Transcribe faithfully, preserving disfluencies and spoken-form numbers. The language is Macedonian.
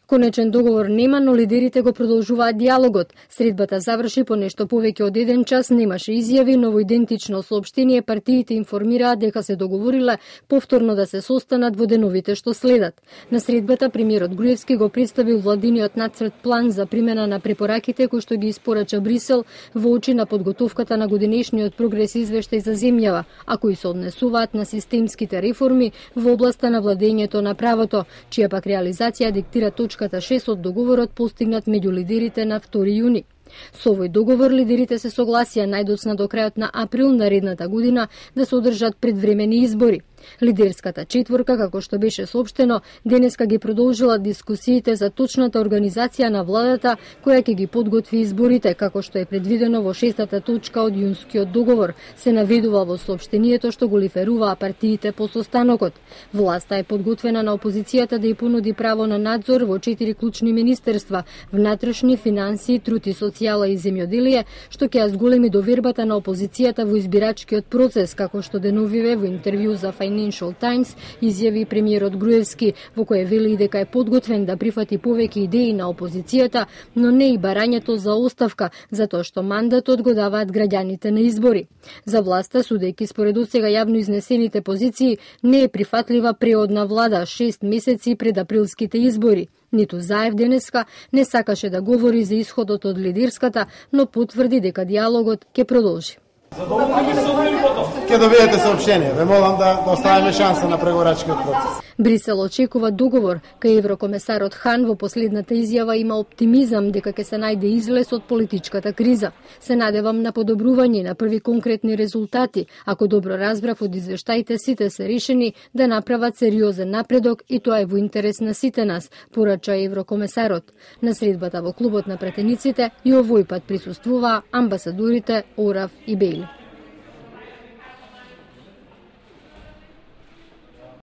Конечен договор нема, но лидерите го продолжуваат диалогот. Средбата заврши по нешто повеќе од еден час, немаше изјави, но во идентично соопштение партиите информираат дека се договориле повторно да се состанат во деновите што следат. На средбата премиерот Груевски го представил владиниот нацрт план за примена на препораките кои што ги испорача Брисел во очи на подготовката на годинешниот прогрес извештај за земјава, а кои се однесуваат на системските реформи во областа на владењето на правото, чија пак реализација диктира точката шест од договорот постигнат меѓу лидерите на втори јуни. Со овој договор лидерите се согласија најдоцна до крајот на април наредната година да се одржат предвремени избори. Лидерската четворка, како што беше соопштено, денеска ги продолжила дискусиите за точната организација на владата која ќе ги подготви изборите, како што е предвидено во шестата точка од јунскиот договор, се наведува во соопштението што го лиферуваа партиите по состанокот. Власта е подготвена на опозицијата да ја понуди право на надзор во четири клучни министерства: внатрешни, финансии, труд и социјала и земјоделие, што ќе ја зголеми довербата на опозицијата во избирачкиот процес, како што деновиве во интервју за Financial Times изјави премиерот Груевски, во кое вели дека е подготвен да прифати повеќе идеи на опозицијата, но не и барањето за оставка, затоа што мандатот го даваат граѓаните на избори. За власта, судејќи според досега јавно изнесените позиции, не е прифатлива преодна влада шест месеци пред априлските избори. Ниту Заев денеска не сакаше да говори за исходот од лидерската, но потврди дека диалогот ќе продолжи. Ке добиете соопштение. Ве молам да, да оставиме шанса на преговорачкиот процес. Брисел очекува договор, кај еврокомесарот Хан во последната изјава има оптимизам дека ќе се најде излез од политичката криза. Се надевам на подобрување на први конкретни резултати. Ако добро разбрав од извештаите, сите се решени да направат сериозен напредок и тоа е во интерес на сите нас, порача еврокомесарот. На средбата во клубот на пратениците и овој пат присуствуваа амбасадорите Орав и Бејли.